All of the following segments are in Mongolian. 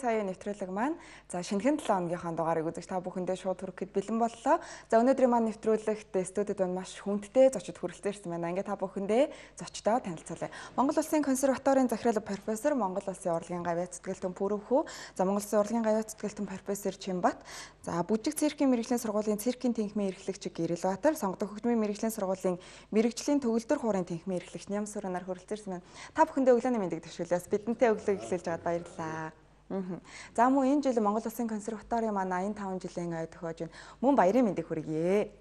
цагийн нэвтрүүлэг маань за шинэхэн 7 өнөгийн дугаарыг үзэж та бүхэндээ шууд хүрэхэд бэлэн боллоо. За өнөөдрийн маань нэвтрүүлэгт студид маань маш хүндтэй зочид хүрэлцэн ирсэн байна. Ингээд та бүхэндээ зочдоо танилцуулъя. Монгол Улсын консерваторийн захирал профессор, Монгол Улсын урлагийн гавьяа цэцгэлтэн Пүрэвхүү, за Монгол Улсын урлагийн гавьяа цэцгэлтэн профессор Чимбат, за Бүжиг циркийн мэрэгжлийн сургуулийн циркийн тэнхимийн эрхлэгч Гэрэлбаатар, Сонгодог хөгжмийн мэрэгжлийн сургуулийн мэрэгжлийн төгөлдөр хуурын тэнхимийн эрхлэгч Нямсүрэнаар хүрэлцэн ирсэн байна. Та бүхэндээ өглөөний мэндийг төшөөлөөс бидэнтэй өглөө эхлүүлж байгаад баярлалаа. За мөн энэ жил Монгол Улсын консерваторийн маань 85 жилийн ой тохиож байна. Мөн баярын мэндийг хүргье.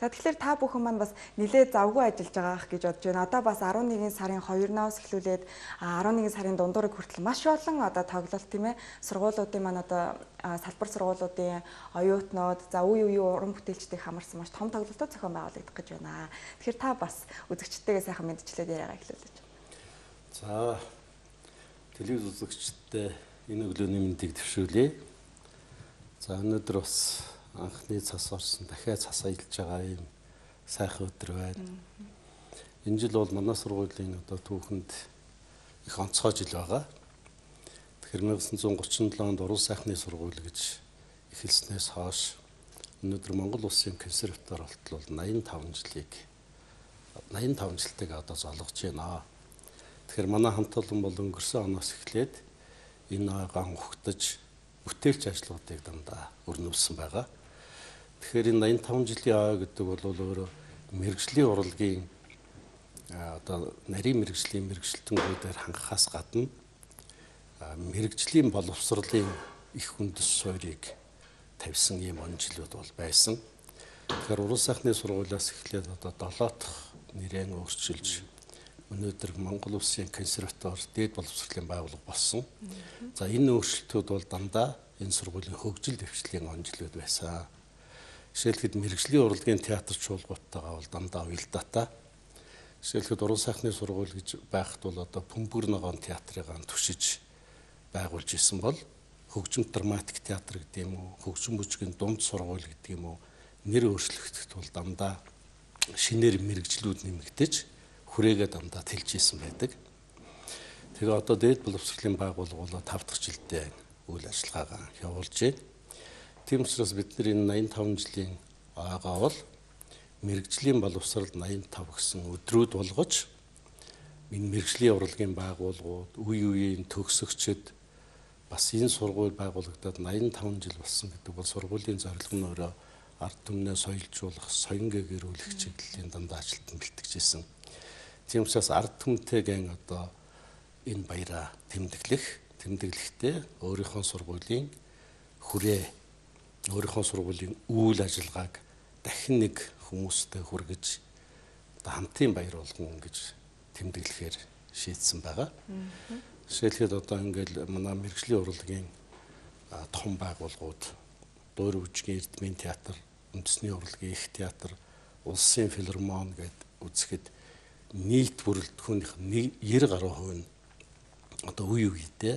За тэгэхээр та бүхэн маань бас нэлээд завгүй ажиллаж байгаах гэж бодож байна. Одоо бас 11 сарын 2-наас эхлүүлээд 11 сарын дундуурыг хүртэл маш олон одоо тоглолт тийм ээ сургуулиудын маань одоо салбар сургуулиудын оюутнууд за үе уран бүтээлчдийг хамарсан маш том тоглолтууд зохион байгуулагдах гэж байна. Тэгэхээр та бас үзэгчдтэйгээ сайхан мэдчлээд яриагаа эхлүүлж. За телевиз үзэгчдтэй энэ өглөөний мэндийг төвшүүлье. За өнөөдөр бас анхны цас орсон дахиад цас аялж байгаа юм сайхан өдөр байна. Энэ жил бол манай сургуулийн одоо түүхэнд их онцгой жил байгаа. Тэгэхээр 1937 онд уран сайхны сургууль гэж эхэлснээс хойш өнөөдөр Монгол Улсын консерватор болтол 85 жилтэйг одоо золгож байна. Тэгэхээр манай хамт олон бол өнгөрсөн оноос эхлээд энэ ойгоо ухтаж бүтээлч ажлуудыг дандаа өрнүүлсэн байгаа. Тэгэхээр энэ 85 жилийн ой гэдэг бол өөрөө мэрэгжлийн урлагийн одоо нарийн мэрэгжлийн мэрэгжилтэнгүүдээр хангахаас гадна мэрэгжлийн боловсролын их үндэс суурийг тавьсан юм он жилүүд бол байсан. Тэгэхээр уран сайхны сургуулиас эхлээд одоо 7 дахь нэрээ өөрчилж өнөөдөр Монгол Улсын консерватор дээд боловсролын байгууллага болсон. За энэ өөрчлөлтүүд бол дандаа энэ сургуулийн хөгжил дэвшлийн он жилүүд байсан. Жишээлбэл мэрэгжлийн урлагийн театр чуулгуудтайгаа бол дандаа уялдаатай. Жишээлбэл уран сайхны сургууль гэж байхад бол одоо Бөмбөр ногоон театрыг түшиж байгуулж исэн бол хөгжим драматик театр гэдэг юм уу, хөгжим бүжгийн дунд сургууль гэдэг юм уу нэр өөрчлөгдөд бол дандаа шинээр мэрэгжлүүд нэмэгдэж хүрээгээ дандаа тэлж исэн байдаг. Тэгээ одоо дээд боловсролын байгууллага бол 5 дахь жилдээ үйл ажиллагаагаа явуулж байна. Тийм учраас бид нар энэ 85 жилийн ойгоо бол мэрэгжлийн боловсрол 85 гэсэн өдрүүд болгож энэ мэрэгжлийн урлагийн байгууллагууд, үе үеийн төгсөгчд бас энэ сургууль байгуулагдаад 85 жил болсон гэдэг бол сургуулийн зорилго нь өөрөө ард түмнээ соёлжуулах, соён гэгэрүүлэх чиглэлийн дандаа ажилтан бэлтгэжсэн. Тийм учраас ард түмтэйгэн одоо энэ баяраа тэмдэглэхдээ өөрийнхөө сургуулийн хүрээ өөрийнхөө сургуулийн үйл ажиллагааг дахин нэг хүмүүстэй хүргэж одоо хамтын баяр болгон гэж тэмдэглэхээр шийдсэн байгаа. Жишээлбэл одоо ингээл манай мэрэгжлийн урлагийн том байгууллагууд Дуур бүжгийн Эрдмийн театр, үндэсний урлагийн их театр, улсын филармон гэд үзэхэд нийт бүрэлдэхүүнийх нь 90 гаруй хувь нь одоо үе үедээ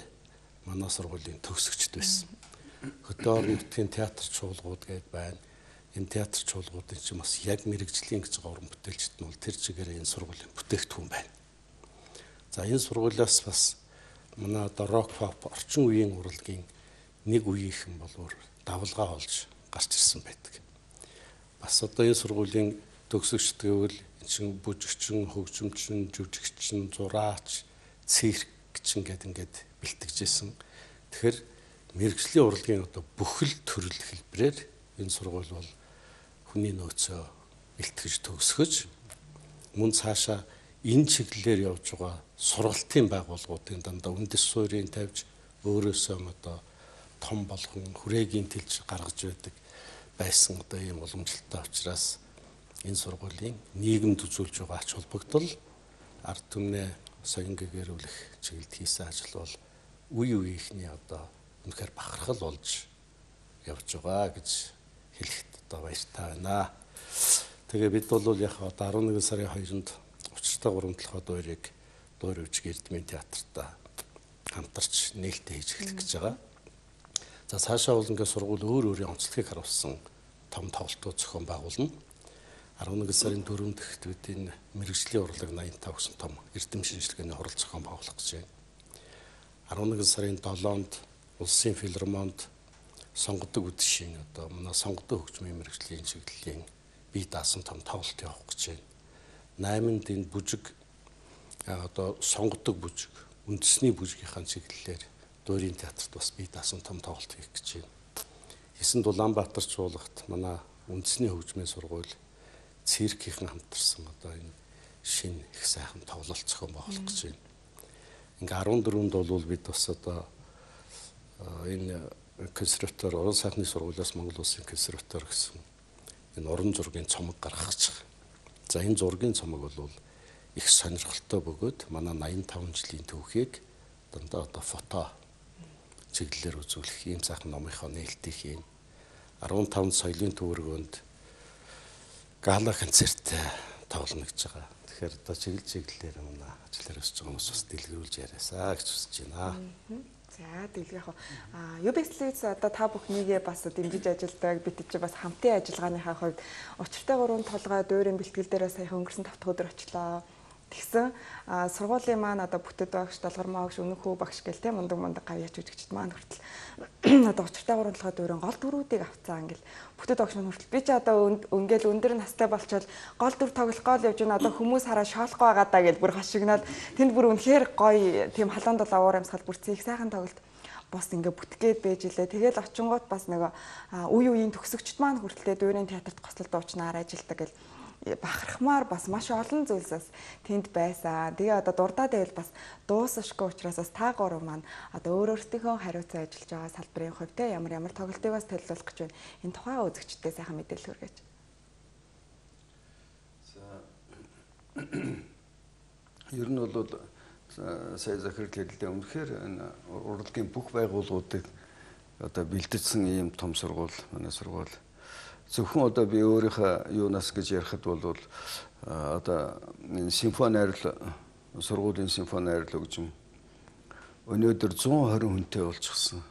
манай сургуулийн төгсөгчд байсан. Хөдөө орон нутгийн театр чуулгууд гэдээ байна. Энэ театр чуулгуудын чинь бас яг мэрэгжлийн гэж байгаа уран бүтээлчд нь бол тэр чигээрээ энэ сургуулийн бүтээгдэхүүн байна. За энэ сургуулиас бас манай одоо рок pop орчин үеийн урлагийн нэг үеийнхэн болвол давлгаа олж гарч ирсэн байдаг. Бас одоо энэ сургуулийн төгсөгчд гэвэл чинь бүжигчин, хөгжимчин, жүжигчин, зураач, циркчин ингээд бэлтгэжсэн. Тэгэхээр мэрэгжлийн урлагийн одоо бүхэл төрөл хэлбэрээр энэ сургууль бол хүний нөөцөө бэлтгэж төгсгөж мөн цаашаа энэ чиглэлээр явж байгаа сургалтын байгууллагуудын дандаа үндэс суурийг тавьж өөрөөсөө одоо том болгон хүрээгийн тэлж гаргаж байдаг байсан одоо ийм уламжлалтай учраас энэ сургуулийн нийгэмд үзүүлж байгаа ач холбогдол ард түмнээ соён гэгэрүүлэх чиглэлд хийсэн ажил бол үе үеийнхний одоо үнэхээр бахархал болж явж байгаа гэж хэлэхэд одоо баяртай байна. Тэгээ бид бол яг одоо 11 сарын 2-нд учиртай гурамтлахад дуурийг Дуур бүжгийн Эрдмийн театртаа хамтарч нээлттэй хийж эхлэх гэж байгаа. За цаашаа бол ингээд сургууль өөрийн онцлогийг харуулсан том тоглолтууд зохион байгуулна. 11 сарын 4-нд ихт бид энэ мэрэгжлийн урлаг 85 гэсэн том эрдэм шинжилгээний хурал зохион байгуулах гэж байна. 11 сарын 7-нд Улсын филармонд сонгодог үдшийн одоо манай сонгодог хөгжмийн мэргэжлийн чиглэлийн бие даасан том тоглолт явах гэж байна. 8-нд энэ бүжиг одоо сонгодог бүжиг, үндэсний бүжгийнхаа чиглэлээр Дуурийн театрт бас бие даасан том тоглолт хийх гэж байна. 9-нд Улаанбаатар чуулгат манай үндэсний хөгжмийн сургууль циркийн хамтарсан одоо энэ шинэ их сайхан тоглолт зохион байгуулах гэж байна. Ингээ 14-нд бол бид бас одоо энэ консерватор уран сайхны сургуулиас Монгол Улсын консерватор гэсэн энэ уран зургийн цомог гаргах гэж байна. За энэ зургийн цомог бол их сонирхолтой бөгөөд манай 85 жилийн түүхийг дандаа одоо фото чиглэлээр үзүүлэх ийм сайхан номынхоо нээлтийг хийн. 15 соёлын төвөргөнд гала концерт тоглоно гэж байгаа. Тэгэхээр одоо чиглэлээр манай ажиллаар өсөж байгаа хүмүүс бас дэлгэрүүлж яриасаа гэж хүсэж байна. За дэлгэх UBS-ээс одоо та бүхнийгээ бас дэмжиж ажилладаг бид чи бас хамтын ажиллагааныхаа хувьд учиртай 3 толгой дуурийн бэлтгэл дээрээ саяхан өнгөрсөн 7 дахь өдөр очлоо. Тэгсэн сургуулийн маань одоо бүтэд багш, далгармаа багш, өнөхөө багш гэл те мундаг гавьяач үжигчд маань хүртэл одоо учиртай 3 толгой дуурийн гол дүрүүдийг авцаа ингээл бүтэд багш маань хүртэл би чи одоо өнгээл өндөр настай болчоод гол дүр тоглох гол явж байна одоо хүмүүс хараа шоолох байгаа даа гэж бүр хашигнаад тэнд бүр үнэхээр гоё тийм халуун дулаа уур амьсгал бүрцэн их сайхан тоглолт бос ингээ бүтгээд байж илээ. Тэгэл очингууд бас нэг үеийн төгсөгчд маань хүртэл дуурийн театрт гослол дуучнаар ажилладаг гэл бахархмаар бас маш олон зүйлсээс тэнд байсан. Тэгээ одоо дурдаад байвал бас дуусашгүй учраас бас та гурав маань одоо өөрөөсөө хариуцсан ажиллаж байгаа салбарын хувьд те ямар тоглолтыг бас төлөвлөх гэж байна. Энэ тухай үзэгчдээ сайхан мэдээлэл хүргэж. За ер нь бол сая захирлын хэлэлдээ үнэхээр энэ урлагийн бүх байгууллагуудыг одоо бэлтгэсэн ийм том сургууль манай сургууль. Зөвхөн одоо би өөрийнхөө юунаас гэж ярихад бол одоо энэ симфони найруулга сургуулийн симфони найруулга хөгжим өнөөдөр 120 хүнтэй болчихсон.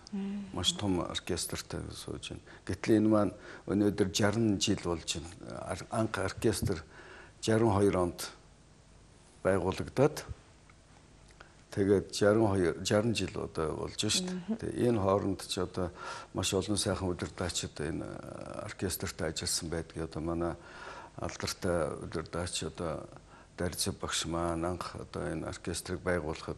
Маш том оркестртай сууж байна. Гэтэл энэ маань өнөөдөр 60 жил болж байна. Анх оркестр 62 онд байгуулагдаад тэгээд 60 жил одоо болж шít. Тэгээ энэ хооронд ч одоо маш олон сайхан удирдаачид энэ оркестрт ажилласан байдаг. Одоо манай алдартай удирдаач одоо Дарцэв багш маань анх одоо энэ оркестрыг байгуулахад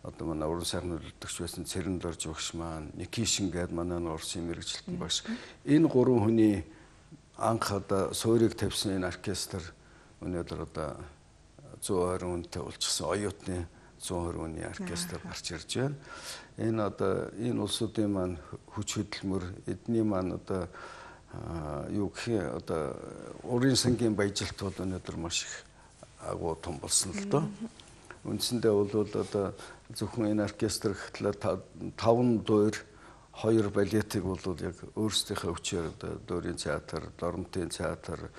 одоо манай уран сайхны удирдагч байсан Цэрэндорж багш маань, Никишин гээд манай Орсын мэргэжилтэн багш. Энэ гурван хүний анх одоо суурийг тавьсан энэ оркестр өнөөдөр одоо 120 хүнтэй болчихсон. Оюутны 120 хүний оркестр гарч ирж байна. Энэ одоо энэ улсуудын маань хүч хөдөлмөр, эдний маань одоо юу гэх юм одоо урын сангийн баяжилт бол өнөөдөр маш их агуу том болсон л доо. Үндсэндээ бол одоо зөвхөн энэ оркестр гэхлээр 5 дуур 2 балетыг бол яг өөрсдийнхөө хүчээр одоо Дуурийн театр, Доромтын театр,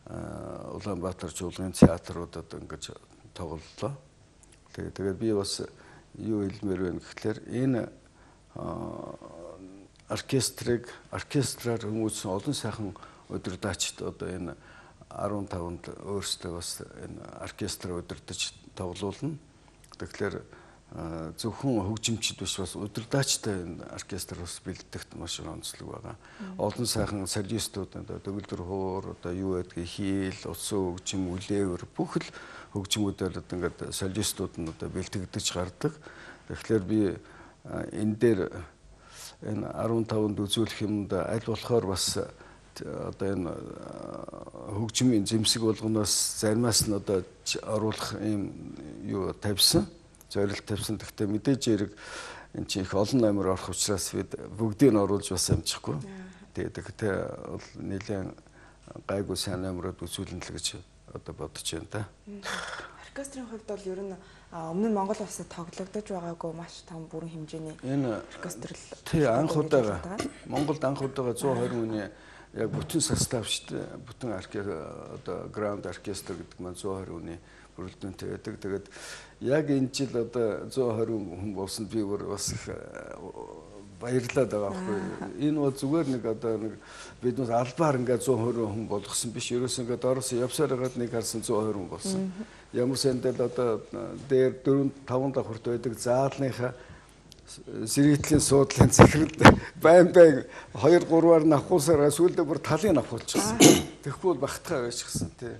Улаанбаатар чуулгын театруудад ингэж тоглолоо. Тэгээд би бас юу хэлмээр байна гэхлээр энэ оркестраар хүмүүжсэн олон сайхан удирдаачид одоо энэ 15-нд өөрсдөө бас энэ оркестр удирдах тоглуулна. Тэгэхээр зөвхөн хөгжимчд биш бас удирдаачтай энэ оркестр бас бэлтгэхт маш онцлог байгаа. Олон сайхан солистууд одоо төгөлдөр хуур одоо юу байдгийг хийл, утсан хөгжим, үлээвэр бүх л хөгжмүүдээр одоо ингээд солистууд нь одоо бэлтгэдэж гардаг. Тэгэхээр би энэ дээр энэ 15-нд үзүүлэх юмд аль болохоор бас одоо энэ хөгжмийн зэмсэг болгоноос заримаас нь одоо оруулах юм юу тавьсан, зорилт тавьсан. Гэхдээ мэдээж хэрэг энэ чинь их олон номер орох учраас бид бүгдийг нь оруулж бас амжихгүй. Тэгэхдээ бол нэлээд гайгүй сайн номерод үзүүлнэ л гэж одоо бодож байна та. Оркестрийн хувьд бол ер нь өмнө нь Монгол улсад тоглогдож байгаагүй маш том бүрэн хэмжээний оркестр л тий анх удаага Монголд анх удаага 120 хүний яг бүтэн состав шүү дээ. Бүтэн одоо граунд оркестр гэдэг маань 120 хүний бүрэлдэхүүнтэй байдаг. Тэгээд яг энэ жил одоо 120 хүн болсон би бас баярлаад байгаа байхгүй. Энэ бол зүгээр нэг одоо нэг биднээс албаар ингээд 120 хүн болгосон биш. Ерөөс ингээд ороос явсаар хагаад нэг харсан 120 хүн болсон. Ямар сэндэл одоо дээр 4-5 давхурт байдаг заалныхаа сэргийтлийн суудлын захирал байн 2-3-аар навхуусараа сүүлдээ бүр талын навхуулчихсан. Тэгэхгүй бол багтахаа байчихсан тий.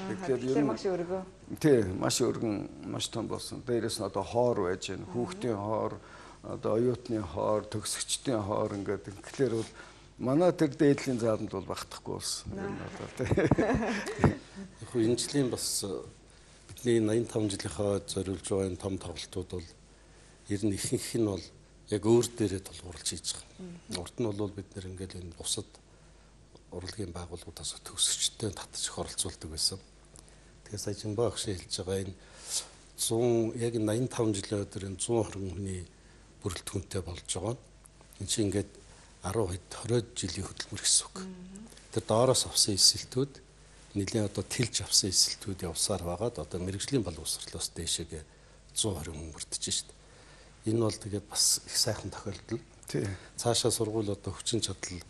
Тэгэхээр маш өргөө. Тий, маш өргөн, маш том болсон. Дээрээс нь одоо хоор байж гэн, хүүхдийн хоор, одоо оюутны хоор, төгсөгчдийн хоор ингээд тэгэхээр бол манай тэр дээдлийн зааланд бол багтахгүй болсон. Яг энэ жилийн бас бидний 85 жилийнхаа зориулж байгаа энэ том тоглолтууд бол ер нь ихэнх нь бол яг өөр дээрээ тулгуурлаж хийж байгаа. Урд нь бол бид нэр ингээл энэ бусад урлагийн байгууллагуудаас төгсөгчтэй татж их оролцуулдаг байсан. Тэгэхээр сая Жимбаа агш хэлж байгаа энэ 100 яг 85 жилийн өдөр энэ 120 хүний бүрэлдэхүүнтэй болж байгаа. Энэ чинь ингээд 10-20 жилийн хөдөлмөр гэсэн үг. Тэр доороос авсан эсэлтүүд нэлийн одоо тэлж авсан эсэлтүүд явсаар байгаад одоо мэрэгжлийн боловсролоос дээшээгээ 120 хүн мөрдөж шít. Энэ бол тэгээд бас их сайхан тохиолдол. Тий. Цаашаа сургууль одоо хүчин чадал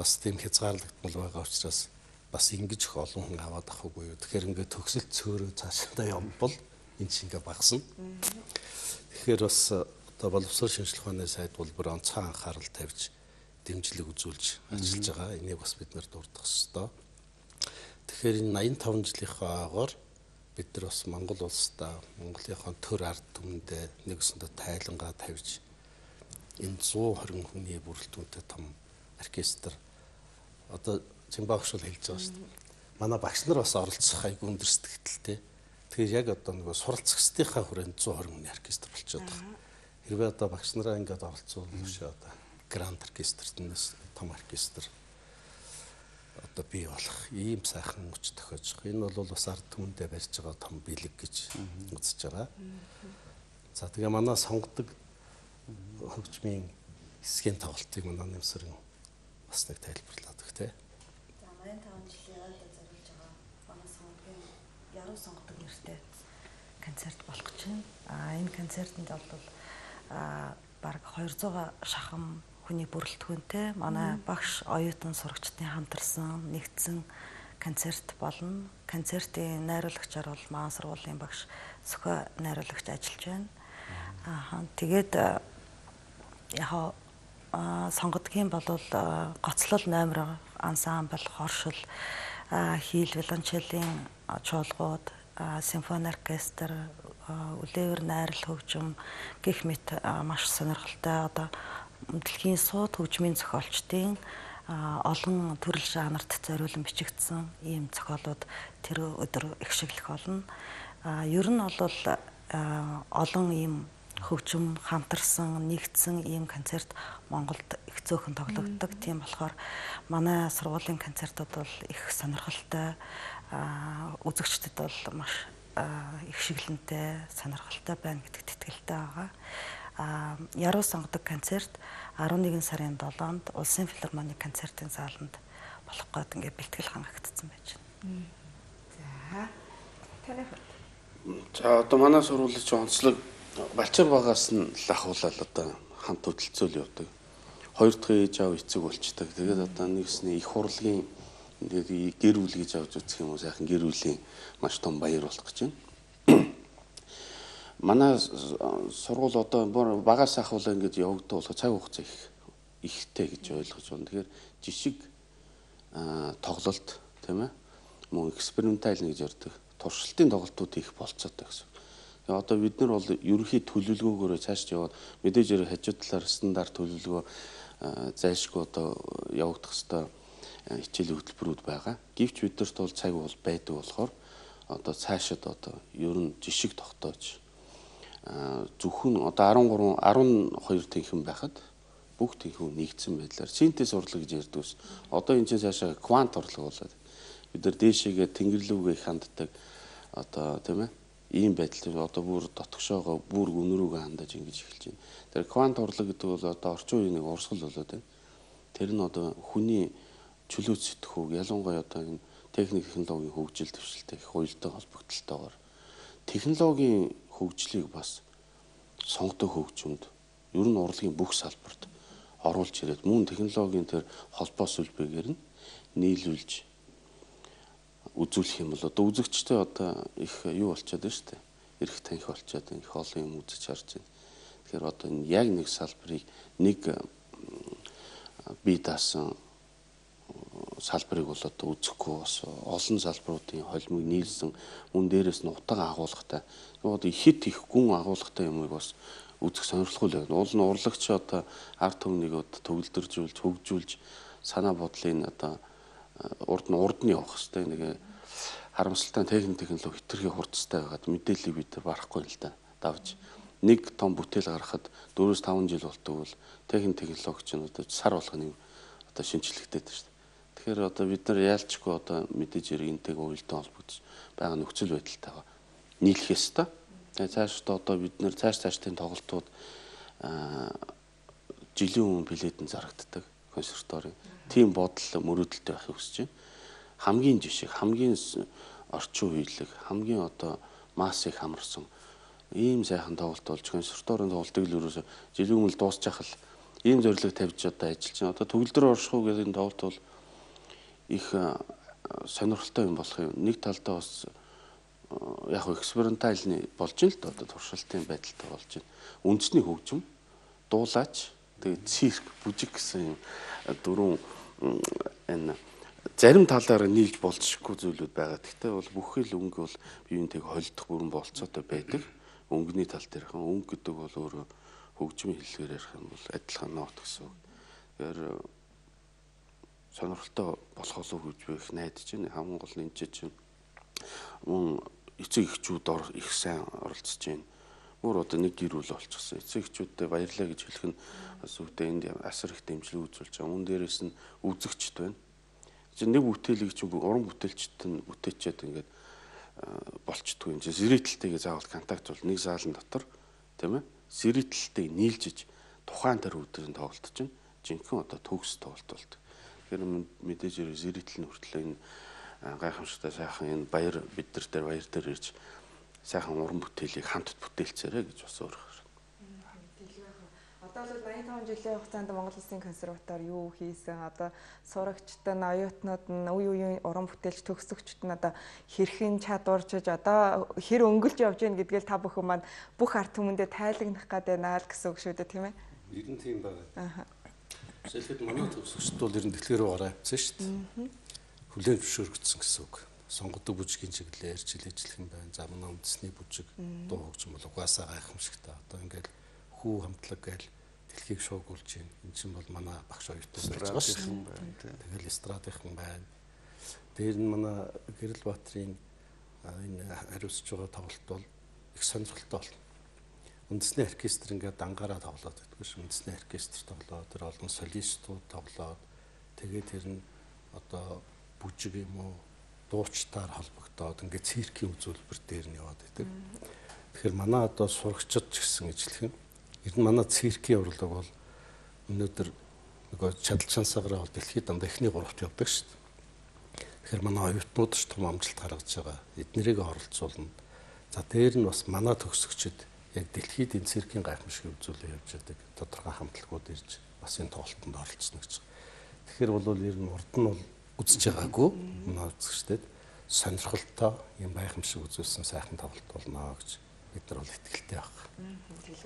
бас тийм хязгаарлагдмал байгаа учраас бас ингэж их олон хүн аваад авахгүй юу. Тэгэхээр ингээд төгсөлт цөөрөө цаашаа явбал энэ чинь ингээд багасна. Тэгэхээр бас одоо боловсрол шинжилгээ ухааны сайд улбар онцгой анхаарал тавьж дэмжлэг үзүүлж ажиллаж байгаа. Энийг бас бид нэр дурдах ёстой. Тэгэхээр энэ 85 жилийнхаагаар бид нар бас Монгол улсдаа Монголынхон төр ард түмэндээ нэгсэндээ тайлангаа тавьж энэ 120 хүний бүрэлдэхүүнтэй том оркестр одоо Жимбаагш бол хэлж байгаа шүү дээ. Манай багш нар бас оролцох айгүй өндөр сэтгэлтэй. Тэгэхээр яг одоо нөгөө суралцагчдынхаа хүрээнд 120 хүний оркестр болчиход байгаа. Хэрвээ одоо багш нараа ингээд оролцуулж одоо гранд оркестртнээс том оркестр одоо бий болох ийм сайхан хүч тохиож байгаа. Энэ бол бас ард түмэндээ барьж байгаа том бэлэг гэж үзэж байгаа. За тэгээ манай сонгодог хөгжмийн хэсгийн тоглолтыг манай нэмсэрэн бас нэг тайлбарлаад өгөх те. За 85 жилийн айлд зориулж байгаа манай сонгогийн яруу сонгодог нэртэй концерт болох гэж байна. Энэ концертанд бол бараг 200 шахам хүний бүрэлдэхүүнтэй манай багш оюутан сурагчдын хамтарсан нэгдсэн концерт болно. Концертын найруулагчаар бол маань сургуулийн багш Сөхөө найруулагч ажиллаж байна. Тэгээд яг сонгодгийн бол гоцлол номер ансамбл, хоршил, хийл виолончелийн чуулгууд, симфони оркестр, үлээвэр найрал хөгжим гэх мэт маш сонирхолтой одоо дэлхийн сууд хөгжмийн зохиолчдын олон төрөл жанрт зориулан бичигдсэн ийм зохиолууд тэр өдөр ихшиглэх болно. Ер нь бол олон ийм хөгжим хамтарсан нэгдсэн ийм концерт Монголд их зөөхөн тоглогддог. Тийм болохоор манай сургуулийн концертууд бол их сонирхолтой, үзэгчдэд бол маш их шиглэнтэй, сонирхолтой байна гэдэгт итгэлтэй байгаа. Яруу сонгодог концерт 11 сарын 7-нд Улсын филармоны концертын зааланд болох гээд ингээд бэлтгэл хангагдсан байж байна. За. Таны За одоо манай сургуулийн онцлог Балчир багаас нь л ахуулаад одоо хамт хөдөлцөөл явдаг. Хоёр дахь ээж аав эцэг болчдаг. Тэгээд одоо нэгсний их урлагийн гэр бүл гэж авч үзэх юм уу сайхан гэр бүлийн маш том баяр болох гэж байна. Манай сургууль одоо багаас ахуулаа ингэж явагддаг болохоо цаг хугацаа ихтэй гэж ойлгож байна. Тэгэхээр жишг тоглолт тийм ээ мөн экспериментал гэж ярьдаг. Туршилтын тоглолтууд их болцоотой гэсэн. Тэгээ одоо бид нар бол ерөнхий төлөвлөгөөгөөрөө цааш яваад мэдээж хажуу талаар стандарт төлөвлөгөө зайлшгүй одоо явагдах хэвээр хичээлийн хөтөлбөрүүд байгаа. Гэвч бидэрт бол цаг бол байдаг болохоор одоо цаашид одоо ер нь жишг тогтоож зөвхөн одоо 12 тэнхэн байхад бүх тэнхэн нэгдсэн байдлаар синтез урлаг гэж ярьдгүйс. Одоо энэ чинь цаашаа квант урлаг болоод бид нар дээшээгээ тэнгэрлүүгээ их ханддаг одоо тийм ээ ийм байдал одоо бүр дотгошоогоо бүр өнөрөөгөө хандаж ингэж эхэлж байна. Тэр квант урлаг гэдэг бол одоо орчин үеийн нэг урсгал болоод байна. Тэр нь одоо хүний чөлөөт сэтгхүүг ялангуяа одоо энэ техник технологийн хөгжил дэвшилтэй их уялдаа холбогдлолтойгоор технологийн хөгжлийг бас сонгодог хөгжмөнд ер нь урлагийн бүх салбарт оруулж ирээд мөн технологийн тэр холбоо сүлбэгээр нь нийлүүлж үзүүлэх юм бол одоо үзэгчтэй одоо их юу болчиход байна шүү дээ. Ирэх таних болчиход их олон юм үзэж харж байна. Тэгэхээр одоо энэ яг нэг салбарыг нэг бие даасан салбарыг бол одоо үзэхгүй бас олон салбаруудын холимыг нийлсэн мөн дээрээс нь утга агуулгатай одоо ихэд их гүн агуулгатай юмыг бас үзэх сонирхолтой л байна. Уул нь урлагч одоо ард түмнийг одоо төгөлдөржүүлж хөгжүүлж санаа бодлын одоо урд нь явах хэрэгтэй нэг харамсалтай технологи хэтэрхий хурцтай байгаад мэдээллийг бид барахгүй л да. Давж нэг том бүтээл гаргахад 4-5 жил болдог бол технологи ч одоо сар болгоны одоо шинжилгэтэй дээ шүү дээ. Тэгэхээр одоо бид нар яалчгүй одоо мэдээж иргэнтэйг уялдан холбогдож байгаа нөхцөл байдалтайгаа нийлэх ёстой. Тэгээ цаашдаа одоо бид нар цаашдын тоглолтууд жилийн өмнө билетэн зарагддаг консерваторийн тийм бодол мөрөөдөлтэй байхыг хүсэж байна. Хамгийн жишээ хамгийн орчин үеийг хамгийн одоо массыг хамарсан ийм сайхан тоглолт болж консерваторийн тоглолтыг л ерөөсө жилийн өмнө дуусчих л ийм зорилго тавьж одоо ажиллаж байна. Одоо төгөлдөр оршихуу гэдэг энэ тоглолт бол их сонирхолтой юм болох юм. Нэг талдаа бас яг экспериментальны болж ин л дээ одоо туршилтын байдалтай болж байна. Үндэсний хөгжим, дуулаач, тэгээд цирк, бүжиг гэсэн дөрвөн энэ зарим талаараа нийлж болцсохгүй зүйлүүд байгаа. Гэхдээ бол бүхэл өнгө бол биеийнтэйг холдох бүрэн болцоотой байдаг. Өнгөний тал дээрх өнгө гэдэг бол өөрөө хөгжмийн хэллэгээр ярих юм бол адилхан нот гэсэн үг. Тэгэхээр сонирхолтой болох болов гэж би их найдаж байна. Хамгийн гол нь чинь мөн эцэг эхчүүд их сайн оролцож байна. Бүр одоо нэг гэр бүл болчихсон. Эцэг эхчүүдтэй баярлаа гэж хэлэх нь бас үедээ энд асар их дэмжлэг үзүүлж байгаа. Мөн дээрээс нь үзэгчд байна. Чинь нэг бүтээлийг чинь уран бүтээлчд нь бүтээчээд ингээд болчдгүй юм. Зэрэгтэлтэйгээ заавал контакт бол нэг заалан дотор тийм ээ. Зэрэгтэлтэйг нийлжиж тухайн тэр үеийн тоглолт чинь жинхэнэ одоо төгс тоглолт болдог. Тэгэхээр мэдээж зэрэгтэл нь хүртэл энэ гайхамшигтай сайхан энэ баяр бид нар дээр баяр дээр ирж сайхан уран бүтээлийг хамт бүтээлцээрэй гэж бас өөрөө. Одоо бол 85 жилийн хугацаанд Монгол Улсын консерватори юу хийсэн? Одоо сурагчтай нь, оюутнууд нь, үе үеийн уран бүтээлч төгсөгчд нь одоо хэрхэн чадварчиж одоо хэр өнгөлж явж гин гэдгээл та бүхэн маань бүх ард түмэндээ тайлагнах гэдэг байна л гэсэн үг шүү дээ, тийм ээ? Ер нь тийм байна. Аа. Жишээлбэл манай төгсөгчд бол ер нь дэлгэрүү гараа авсан шүү дээ. Хүлээн зөвшөөрөгдсөн гэсэн үг. Сонгодог бүжгийн чиглэлээр ажиллах юм байна. За манай үндэсний бүжиг дуу хөгжим бол угаасаа гайхамшигтай. Одоо ингээд хүү хамтлаг гээл дэлхийг шуугуулж байна. Энд чинь бол манай багш оюутнууд байж байгаа шүү дээ. Тэгэл эстрадынхан байна. Дээр нь манай Гэрэл Баатрын энэ хариуцж байгаа тоглолт бол их сонирхолтой болно. Үндэсний оркестр ингээд дангаараа тоглоод байдаг шүү. Үндэсний оркестр тоглоод тэр олон солистууд тоглоод тэгээд тэр нь одоо бүжиг юм уу дуучтаар холбогдоод ингээд циркийн үзүүлбэр дээр нь яваад байдаг. Тэгэхээр манай одоо сурагчид ч гэсэн ижлэх юм. Ер нь манай циркийн урлаг бол өнөөдөр нөгөө чадал шансаараа бол дэлхийд дандаа эхний гуравт явдаг шүү дээ. Тэгэхээр манай оюутнууд ч том амжилт гаргаж байгаа. Эднэрийг оролцуулна. За дээр нь бас манай төгсөгчид яг дэлхийд энэ циркийн гайхамшиг үзүүлэлт явж байдаг. Тодорхой хамтлагууд ирж бас энэ тоглолтод оролцсон гэж. Тэгэхээр бол ер нь урд нь бол үзэж байгаагүй манай үзэгчдэд сонирхолтой юм гайхамшиг үзүүлсэн сайхан тоглолт болно гэж бид нар бол итгэлтэй байна.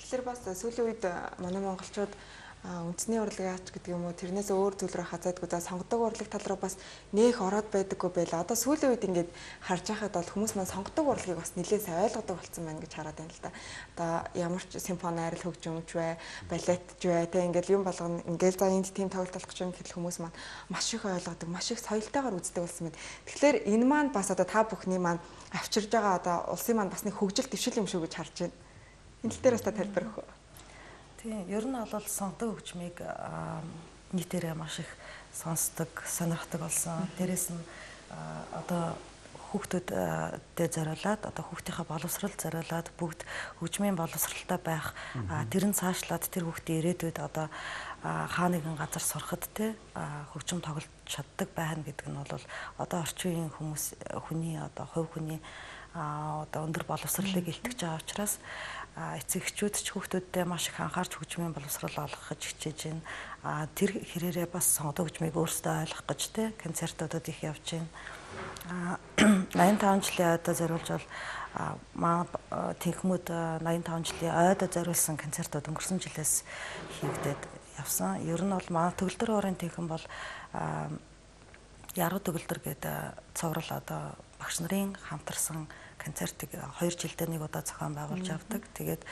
Тэгэхээр бас сүүлийн үед манай монголчууд үндэсний урлагийн ач гэдэг юм уу тэрнээс өөр зүйл рүү хазаадгүй за сонгодог урлаг тал руу бас нээх ороод байдаггүй байла. Одоо сүүлийн үед ингээд харж байхад бол хүмүүс маань сонгодог урлагийг бас нэлээд сайн ойлгодог болсон байна гэж хараад байна л да. Одоо ямар ч симфони арил хөгжимч бай, балетч бай тэ ингээд юм болгоно ингээд за энд тийм тоглолт болох гэж юм гэхэл хүмүүс маань маш их ойлгодог, маш их соёлтойгоор үздэг болсон байна. Тэгэхээр энэ маань бас одоо та бүхний маань авчирж байгаа одоо улсын маань бас нэг хөгжил дэвшил юм шүү гэж харж байна. Энэ тал дээр бас та тайлбар өгөх үү? Тийм, ер нь бол сонгодог хөгжмийг нийтээрээ маш их сонсдог, сонирхдаг болсон. Дээрээс нь одоо хүүхдүүдэд зориулаад, одоо хүүхдийнхээ боловсрол зориулаад бүгд хөгжмийн боловсралтай байх, тэр нь цаашлаад тэр хүүхдийн ирээдүйд одоо хаа нэгэн газар сурахад те хөгжим тоглож чаддаг байна гэдэг нь бол одоо орчин үеийн хүний одоо хувь хүний одоо өндөр боловсролыг илтгэж байгаа учраас эцэгчүүд ч хүүхдүүддээ маш их анхаарч хөгжмийн боловсрол олгохыг хичээж байна. Тэр хэрээрээ бас сонгодог хөгжмийг өөрсдөө ойлгох гэж те концертуудад их явж байна. 85 жилийн ойдоо зориулж бол маа тэнхмүүд 85 жилийн ойдоо зориулсан концертууд өнгөрсөн жилээс хийгдээд явсан. Ер нь бол маа төгөлдөр хоорын тэнхм бол яруу төгөлдөр гэдэг цоврал одоо багш нарын хамтарсан концертыг 2 жилдээ нэг удаа зохион байгуулж авдаг. Тэгээд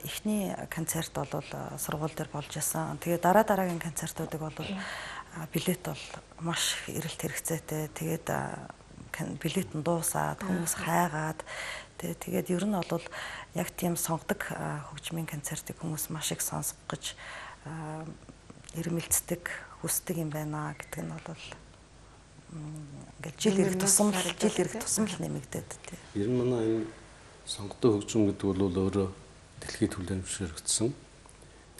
эхний концерт бол сургууль дээр болж исэн. Тэгээд дараагийн концертуудыг бол билет бол маш эрэлт хэрэгцээтэй. Тэгээд билет нь дуусаад хүмүүс хайгаад тэгээд ер нь бол яг тийм сонгодог хөгжмийн концертыг хүмүүс маш их сонсох гэж ирмэлцдэг, хүсдэг юм байна гэдэг нь бол ингээд жил ирэх тусам л нэмэгдээд тий. Ер нь манай энэ сонгодог хөгжим гэдэг бол өөрөө дэлхийд хүлээн зөвшөөрөгдсөн.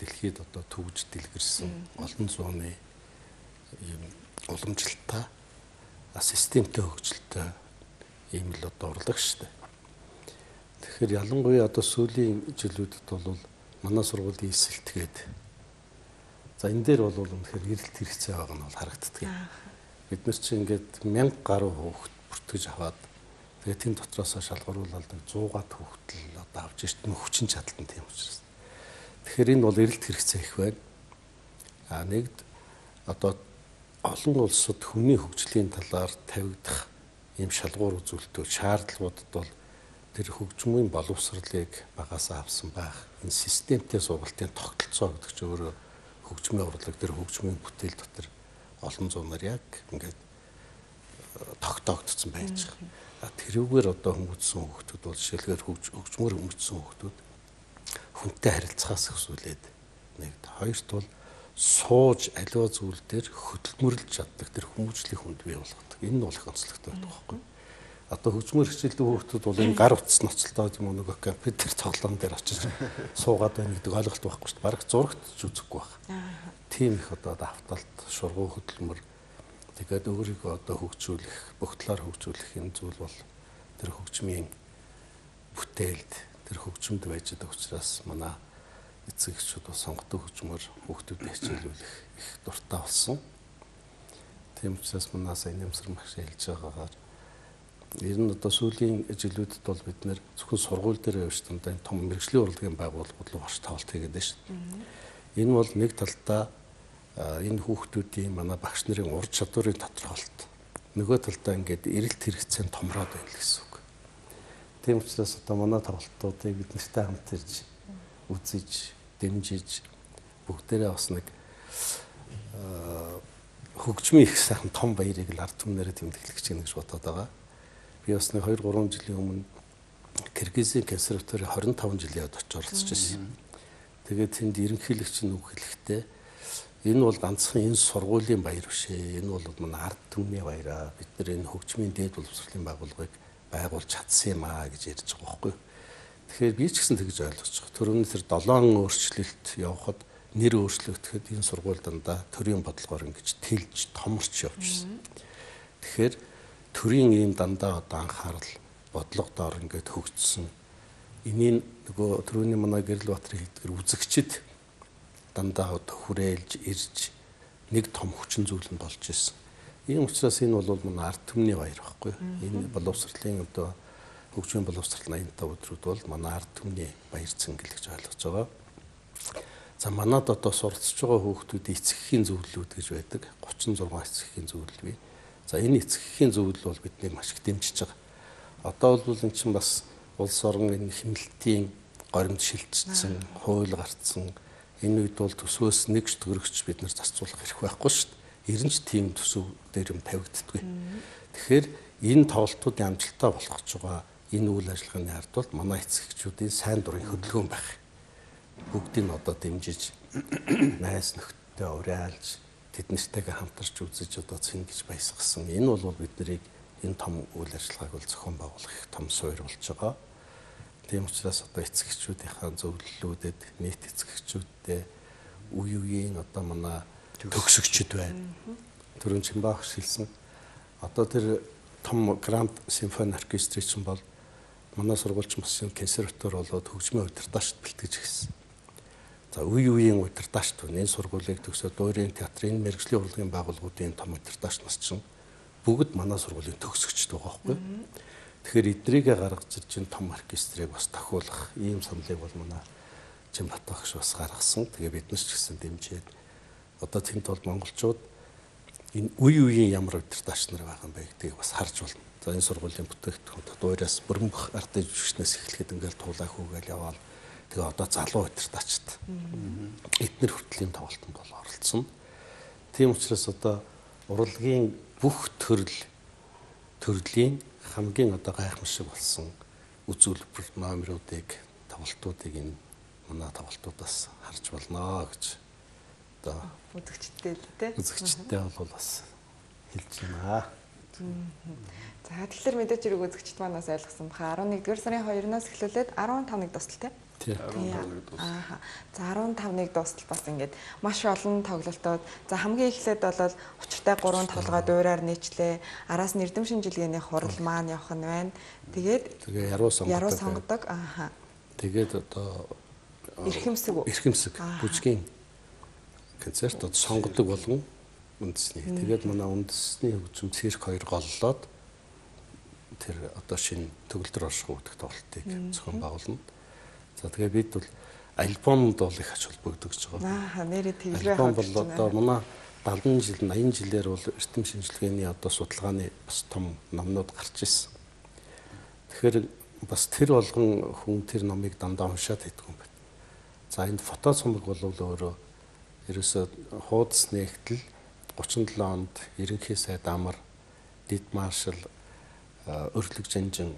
Дэлхийд одоо төвж дэлгэрсэн олон зууны ийм уламжлалтай системтэй хөгжилтэй ийм л одоо урлаг шүү дээ. Тэгэхээр ялангуяа одоо сүүлийн жилүүдэд бол манай сургуулийн эсэлтгээд за энэ дээр бол үнэхээр эрэлт хэрэгцээ байгаа нь бол харагддаг. Бид нар чинь ингээд 1000 гаруй хүүхэд бүртгэж аваад тэгээд тийм дотроос шалгаруулаад 100 гад хүүхдэл одоо авч ирт нь хүчин чадалтай тийм учраас. Тэгэхээр энэ бол эрэлт хэрэгцээ их байна. Нэгд одоо олон улсад хүний хөгжлийн талаар тавигдах ийм шалгуур үзүүлэлтүүд шаардлагуудад бол тэр хөгжмийн боловсролыг багасаа авсан байх. Энэ системтэй сургалтын тогтолцоо гэдэг чинь өөрөө хөгжмийн урлаг тэр хөгжмийн бүтээл дотор олон зуунаар яг ингээд тогтоогдсон байж байгаа. Тэрүүгээр одоо хүмүүжсэн хүүхдүүд бол жишээлбэл хөгжмөр хүмүүжсэн хүүхдүүд хүнтэй харилцахаас өсвөлээд нэгд хоёрт бол сууж аливаа зүйл дээр хөдөлмөрлж чаддаг тэр хүмүүжлийн хүнд бий болгодог. Энэ нь бол их онцлогтой байдаг байхгүй. Одоо хөгжмөр хичээлдэг хүүхдүүд бол энэ гар утас ноцолтоо юм уу нэг компьютер тоглоом дээр очиж суугаад байна гэдэг ойлголт байхгүй шүү дээ. Бараг зурагт ч үзэхгүй байна. Тийм их одоо давталт, шургуу хөдөлмөр тэгээд өөрийгөө одоо хөгжүүлэх, бүх талаар хөгжүүлэх энэ зүйл бол тэр хөгжмийн бүтээлд, тэр хөгжмөд байж байгаа учраас манай эцэг эхчүүд бас сонгодог хөгжмөр хүүхдүүдэд хичээлүүлэх их дуртай болсон. Тийм учраас манай сайн нэмсэр маш хэлж байгаагаар ер нь одоо сүүлийн жилүүдэд бол бид нэр зөвхөн сургууль дээр явж тандаа том мэрэгжлийн урлагийн байгууллагууд руу орч тавалт хийгээд байна шүү дээ. Энэ бол нэг талдаа энэ хүүхдүүдийн манай багш нарын ур чадварын тодорхойлолт. Нөгөө талдаа ингээд эрэлт хэрэгцээнд томроод байна л гэсэн үг. Тийм учраас одоо манай тоглолтуудыг бид нартай хамт ирж үзэж, дэмжиж бүгдээрээ бас нэг хөгжмийн их сайхан том баярыг л ард түмнэрээ тэмдэглэх гэж бодоод байгаа. Би бас нэг 2-3 жилийн өмнө Киргизийн консерваторийн 25 жилийн явд очиж оролцож байсан. Тэгээд тэнд ерөнхийлөгч нь үг хэлэхдээ энэ бол ганцхан энэ сургуулийн баяр биш ээ. Энэ бол манай ард түмний баяраа. Бид нар энэ хөгжмийн дээд боловсролын байгууллагыг байгуулж чадсан юм аа гэж ярьж байгаа байхгүй. Тэгэхээр би ч гэсэн тэгж ойлгож байгаа. Төрөний тэр 7 өөрчлөлт явахад нэр өөрчлөгдөхэд энэ сургууль дандаа төрийн бодлогоор ингэж тэлж томорч явжсэн. Тэгэхээр төрийн ийм дандаа одоо анхаарал бодлого доор ингээд хөгжсөн. Энийг нөгөө төрөний манай Гэрэл Баатрын хэлдгэр үзэгчд дандаа одоо хүрээлж ирж нэг том хүчин зүйл нь болж ирсэн. Ийм учраас энэ бол манай ард түмний баяр байхгүй. Энэ боловсролын одоо хөгжмийн боловсрол 85 өдрүүд бол манай ард түмний баяр цэнгэл гэж ойлгож байгаа. За манад одоо суралцж байгаа хүүхдүүдийн эцэгхийн зөвлөлүүд гэж байдаг. 36 эцэгхийн зөвлөл бий. За энэ эцэгхийн зөвлөл бол биднийг маш их дэмжиж байгаа. Одоо бол эн чинь бас улс орон энэ хэмнэлтийн горимд шилжчихсэн, хууль гарцсан. Энэ үед бол төсвөөс нэгж төгрөгч бид нар зарцуулах хэрэг байхгүй шүү дээ. Ерэн ч тийм төсөв дээр юм тавигддаггүй. Тэгэхээр энэ тоглолтуудын амжилттай болох гэж байгаа энэ үйл ажиллагааны ард бол манай эцэгчүүдийн сайн дурын хөдөлгөөн байх. Бүгдийг одоо дэмжиж, найз нөхдөдөө уриалж, тэднэртэйгээ хамтарч үзэж одоо цэнгэж баясгасан. Энэ бол бид нарыг энэ том үйл ажиллагааг бол зохион байгуулах их том суурь болж байгаа. Тийм учраас одоо эцэгчүүдийнхаа зөвлөлүүдэд нийт эцэгчүүдтэй үе үеийн одоо манай төгсөгчд байна. Түрүүн Чимбаах хэлсэн. Одоо тэр том Гранд симфони оркестрийн чинь бол манай сургуульч бас юм консерватор болоод хөгжмийн удирдаачд бэлтгэж гисэн. За үе үеийн удирдаачд байна. Энэ сургуулийг төгсөөд өөрийн театрын мэргэжлийн урлагийн байгууллагуудын том удирдаач нас чинь бүгд манай сургуулийн төгсөгчд байгаа байхгүй. Тэгэхээр эдрийгээ гаргаж ирж энэ том оркестрийг бас тохиулах ийм саналыг бол манай Чимбат багш бас гаргасан. Тэгээ бид нар ч гэсэн дэмжиж одоо тэнд бол монголчууд энэ үе үеийн ямар удирдаач нар байгаа юм бэ гэдгийг бас харж болно. За энэ сургуулийн бүтээгдэхүүн дуураас бүрэн бүх ардын жүжигчнээс эхлэхэд ингээл туулаа хүүгээл яваал. Тэгээ одоо залуу удирдаачд эднэр хүртлийн тоглолтод бол оролцсон. Тийм учраас одоо урлагийн бүх төрлийн хамгийн одоо гайхамшиг болсон үзүүлбэр номеруудыг тоглолтуудыг энэ манай тоглолтуудаас харж болно гэж одоо үзэгчтэй бол бас хэлж байна. За тэгэхээр мэдээж хэрэг үзэгчд манаас ойлгосон баха 11-р сарын 2-оос эхлүүлээд 15-ыг дуустал тийм. За 15-ыг дуустал бас ингээд маш олон тоглолтууд. За хамгийн эхлээд бол учиртай 3 тоглогоо дуурайар нийтлээ. Араас нь эрдэм шинжилгээний хурал маань явах нь байна. Тэгээд яруу сонгодог. Тэгээд одоо эрхэмсэг бүжгийн концерт одоо сонгодог болгон үндэсний. Тэгээд манай үндэсний хөгжим цирк 2 голлоод тэр одоо шинэ төгөлдөр оршихуй гэдэг тоглолтыг зохион байгуулна. За тэгээ бид бол альбомд бол их ач холбогддог гэж байгаа. Нэрээ тэглээ альбом бол одоо манай 70 жил 80 жилээр бол эрдэм шинжилгээний одоо судалгааны бас том номнууд гарч ирсэн. Тэгэхээр бас тэр болгон хүн тэр номыг дандаа уншаад байдаг юм байна. За энэ фото цомог бол өөрөө ерөөсөө хуудас нэгтэл 37 онд ерөнхий сайд амар дэд маршал өрлөг жанжин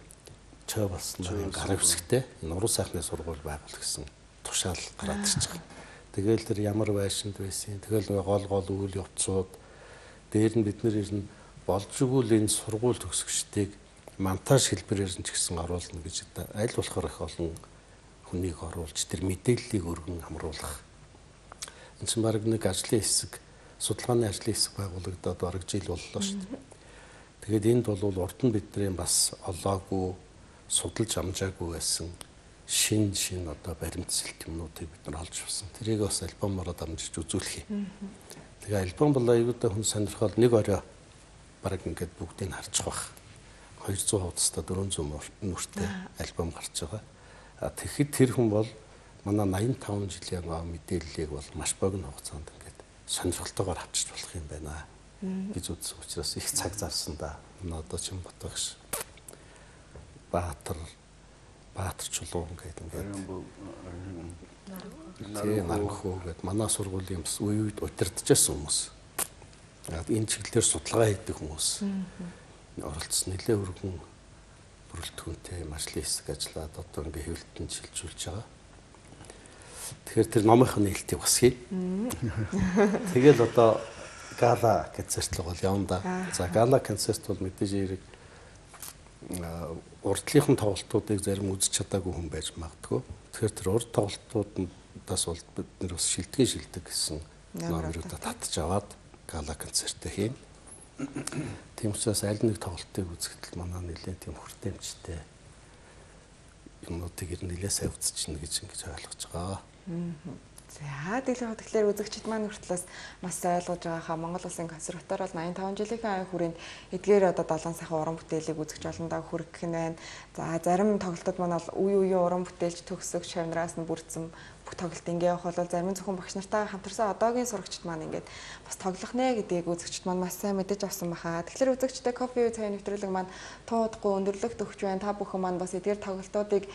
чой болсон гар хэвсэгтэй энэ уран сайхны сургууль байгуул гэсэн тушаал гараад ирж байгаа. Тэгэл тэр ямар байшинд байсан. Тэгэл гол үйл явцууд дээр нь бид нэр ирнэ болж игэл энэ сургууль төгсөгчдийг монтаж хэлбэрээр нь ч гэсэн оруулна гэж аль болохоор их олон хүнийг оруулж тэр мэдээллийг өргөн хамруулах. Энэ чинь баг нэг ажлын хэсэг, судалгааны ажлын хэсэг байгуулагдаад бараг жил боллоо шүү дээ. Тэгээд энд бол урд нь бидний бас олоогүй, судалж амжаагүй байсан шин одоо баримтсэлт юмнуудыг бид нар олж авсан. Тэрийг бас альбомороо дамжиж үзүүлэх юм. Тэгээ альбом бол аюултай хүн сонирхол нэг орой бараг ингээд бүгдийг харж байгаа. 200 хуудастай 400 нүртэй альбом гарч байгаа. Тэгэхэд тэр хүн бол манай 85 жилийн мэдээллийг бол маш богино хугацаанд ингээд сонирхолтойгоор авчиж болох юм байна гэж үзсэн учраас их цаг зарсан да. Одоо Чимбат багш Баатар чулуун гэдэг ингээд Наранхуу гэдэг манай сургуулийн бас үе үед удирдахжсэн хүмүүс. Энэ чиглэлээр судалгаа хийдэг хүмүүс. Оролцсон нэлээ өргөн бүрэлдэхүүнтэй ажлын хэсэг ажиллаад одоо ингээ хэвлэлтэн шилжүүлж байгаа. Тэгэхээр тэр номынхын нээлтийг бас хий. Тэгэл одоо гала концерт л бол явна да. За гала концерт бол мэдээж хэрэг урдлынхан тоглолтуудыг зарим үзэж чадаагүй хүн байж магадгүй. Тэгэхээр тэр урд тоглолтуудаас бол бид нэр бас шилдэг гэсэн номеруудаа татж аваад гала концертээ хийн. Тийм учраас аль нэг тоглолтыг үзэхэд манай нэлээд тийм хүртээмжтэй юмнуудыг нэлээд сайн үзчихнэ гэж ингэж ойлгож байгаа. За тэгэхээр үзэгчид маань хүртлээс маш ойлгож байгааха Монгол Улсын консерватори бол 85 жилийн хүрээнд эдгээр одоо 7 сайхан уран бүтээлийг үзэж олондоо хүргэх нь байна. За зарим тоглолтууд маань бол үе үеийн уран бүтээлч төгсөг шавнараас нь бүрдсэн бүх тоглолт ингэ явах бол зарим зөвхөн багш нартайгаа хамтарсан одоогийн сурагчид маань ингээд бас тоглох нэ гэдгийг үзэгчид маань маш сайн мэдэж авсан баха. Тэгэхээр үзэгчтэй кофе уу цай нэвтрүүлэг маань туудахгүй өндөрлөгт өгч байна. Та бүхэн маань бас эдгээр тоглолтуудыг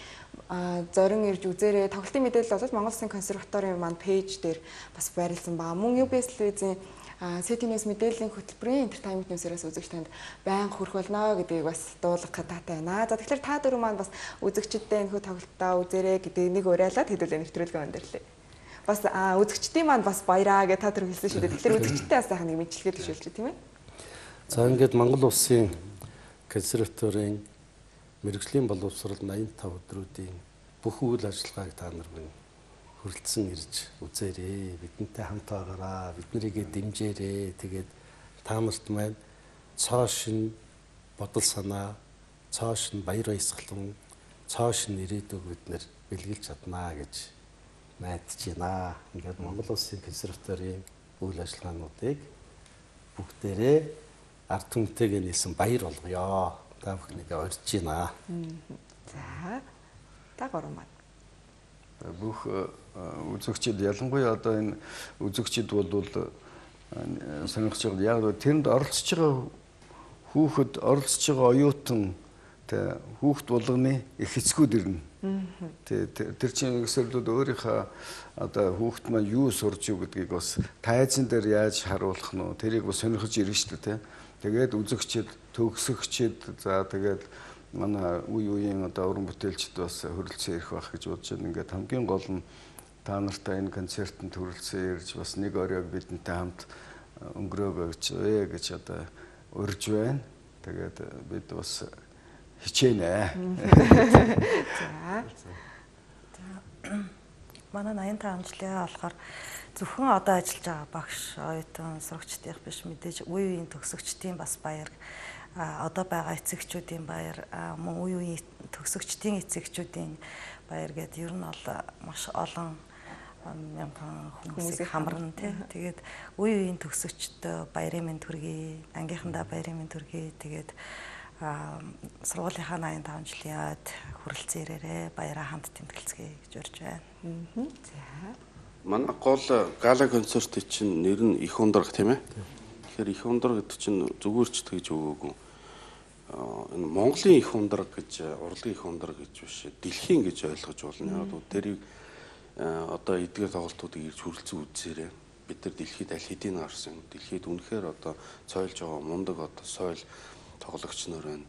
зорин ирж үзээрэй. Тоглолтын мэдээлэл бол Монгол Улсын консерваторийн маань пэйж дээр бас байрлсан баа. Мөн UBS телевизийн Сэтинес мэдээллийн хөтөлбөрийн entertainment news-ээс үзэгч танд байнга хүрэх болно гэдгийг бас дуулах гадаатай байна. За тэгэхээр та дөрөв маань бас үзэгчдтэй энэ хүү тоглолтоо үзээрэй гэдэг нэг уриалаад хэдүүлээ нэвтрүүлгээ өндөрлөө. Бас үзэгчдийн маань бас баяраа гэж та дөрөв хэлсэн шүү дээ. Тэгэхээр үзэгчдтэй бас сайхан нэг мэдлэгээ төшөөлж тийм ээ. За ингээд Монгол Улсын консерваторийн мэргэжлийн боловсрол 85 өдрүүдийн бүх үйл ажиллагааг та нар хүрэлцэн ирж үзээрэй. Бидэнтэй хамт байгаараа, биднэрийгээ дэмжээрэй. Тэгээд та нарт маань цоо шин бодол санаа, цоо шин баяр баясгалан цааш нь ирээдүйг бид нэр бэлгэлж чаднаа гэж найдаж байна. Ингээд Монгол Улсын консерваторийн үйл ажиллагаануудыг бүгдээрээ ард түмтэйгээ нийлсэн баяр болгоё. Та бүхнийг урьж байна. За. Та гурван маань. Бүх үзэгчид ялангуяа одоо энэ үзэгчид бол сонирхож байгаа. Яг тэрэнд оролцож байгаа хүүхэд оролцож байгаа оюутан тэ хүүхд болгоны их эцгүүд ирнэ. Тэр чинь өсөрлүүд өөрийнхөө одоо хүүхд маань юу сурж юу гэдгийг бас тайзан дээр яаж харуулах нь тэрийг бас сонирхож ирнэ шүү дээ. Тэгээд үзэгчид, төгсөгчид за тэгээд манай үеийн одоо уран бүтээлчд бас хөрөлцөн ирэх байх гэж бодож байна. Ингээд хамгийн гол нь та нартай энэ концертанд хөрөлцөн ирж бас нэг оройг бидэнтэй хамт өнгөрөөгөөч гэж одоо урьж байна. Тэгээд бид бас хичээнэ. За. Манай 85 жилийн болохоор зөвхөн одоо ажиллаж байгаа багш, оюутан, сурагчдын биш мэдээж үе үеийн төгсөгчдийн бас баяр, одоо байгаа эцэгчүүдийн баяр, мөн үе үеийн төгсөгчдийн эцэгчүүдийн баяр гэдэг ер нь бол маш олон мянган хүмүүсийг хамарна тий. Тэгээд үе үеийн төгсөгчдөө баярын мэнд хүргэе, ангийнхандаа баярын мэнд хүргэе. Тэгээд сургуулийнхаа 85 жилийн ойд хүрэлцэн ирээрээ баяраа хамт тэмдэглэцгээе гэж урьж байна. За. Манай гол гала концертын чинь нэр нь их ундраг тийм ээ. Тэгэхээр их ундраг гэдэг чинь зүгээр ч тэгж өгөөгүй. Энэ Монголын их ундраг гэж, урлагийн их ундраг гэж биш, дэлхийн гэж ойлгож болно. Яг нь тэрийг одоо эдгээр тоглолтуудыг ирж хүрэлцэн үзээрэй. Бид нар дэлхийд аль хэдийн гарсан. Дэлхийд үнэхээр одоо цойлж байгаа мундаг одоо соёл тоглогч нар байна.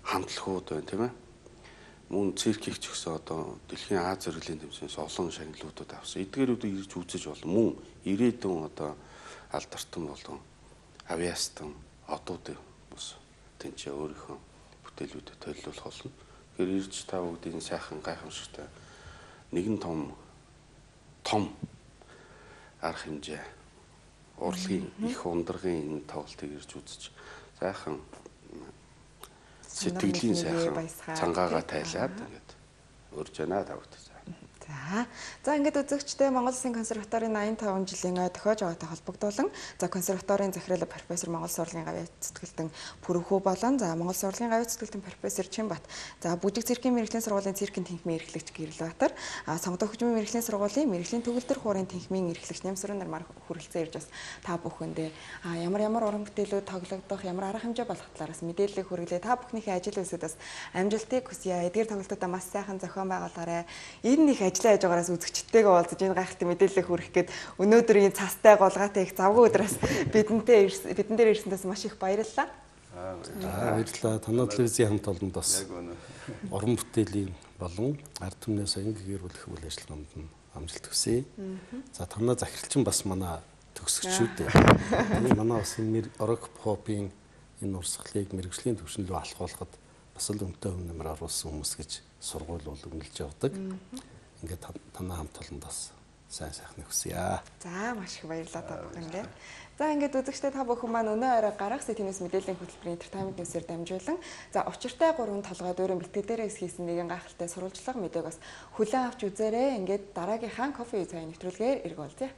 Хамтлагууд байна тийм ээ. Мөн циркийг ч гэсэн одоо дэлхийн Аз зэрэглэлийн тэмцээнээс олон шагналуудад авсан. Эдгээрүүдийг ирж үзэж болно. Мөн ирээдүйн одоо алдартан болон авиастан одууд бас тэнцээ өөрийнхөө бүтээлүүдэд төлөвлөх болно. Тэгэхээр ирж та бүгдийн сайхан гайхамшигтай нэгэн том арга хэмжээ урлагийн их ундрагын энэ тоглолтыг ирж үзэж сайхан сэтгэлийн сайхан цангаагаа тайлаад ингээд урьж байна та бүгд. За ингээд үзэгчтэй Монгол Улсын консерваторийн 85 жилийн ой тохиож байгаатай холбогдуулан за консерваторийн захирал профессор Монгол сурлагын гавьяа цэцгэлтэн Пүрэнхүү болон за Монгол сурлагын гавьяа цэцгэлтэн профессор Чинбат за Бүжиг циркийн мэрэгжлийн сургуулийн циркийн тэнхимийн эрхлэгч Гэрэлбаатар сонгодог хөгжмийн мэрэгжлийн сургуулийн мэрэгжлийн төгөлдөр хуурын тэнхимийн эрхлэгч Нямсрын нар хүрэлцэн ирж бас та бүхэндээ ямар уран бүтээлүүд тоглогдох ямар арга хэмжээ болох талаараас мэдээлэл хүргэлээ та бүхнийхээ ажил үйлсүүдээс амжилтыг хүсье. Эдгээр тоглолтуудаа маш сайхан зохион байгуулаарай. Энэ их ажиллаж байгаараас үзэгчдтэйгээ уулзаж энэ гайхалтай мэдээлэл хүргэх гээд өнөөдрийн цастай гулгаатай их завгүй өдрөөс бидэн дээр ирсэнээс маш их баярлалаа. Баярлалаа. Танай телевизийн хамт олонд бас уран бүтээлийн болон ард түмнээс анги гэрүүлэх үйл ажиллагаанд нь амжилт хүсье. За танай захиралчин бас манай төгсөгчүүд. Манай бас энэ орог попын энэ урсгалыг мэрэгжлийн түвшин рүү алхуулахад бас л өмтөө өмнөмөр оруулсан хүмүүс гэж сургууль бол үнэлж явдаг. Ингээд танай хамт олонд бас сайн сайхны хүсье. За маш их баярлалаа та бүхэндээ. За ингээд үзэгчтэй та бүхэн маань өнөө орой гарах сэтгээс мэдээллийн хөтөлбөрийн Entertainment News-ээр дамжуулан за учиртай 3 толгой дөрөв бэлтгэдээрээс хийсэн нэгэн гайхалтай сурвалжлага мэдээг бас хүлээн авч үзээрэй. Ингээд дараагийнхаа кофе цай нэвтрүүлгээр эргүүлье.